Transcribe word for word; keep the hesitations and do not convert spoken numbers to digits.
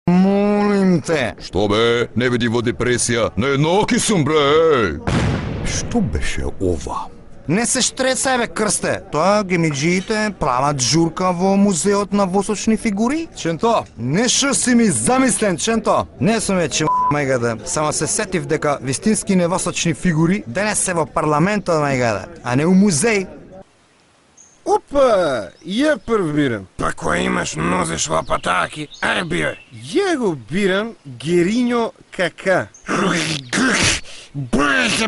Молим те. Што бе, не види во депресија, неедноки сум бре. Што беше ова? Не се штрецај бе, Крсте. Тоа гемиџиите прават журка во музеот на восочни фигури? Ченто, Нешто си ми замислен, Ченто. Не сум веќе мајгаде. Само се сетив дека вистински невосочни фигури денес се во парламентот, мајгаде, а не у музеј. опа, ја прв бирам. Па кој имаш нозеш во патаки? Ај биј. Ја го бирам Гериньо Кака. Боже,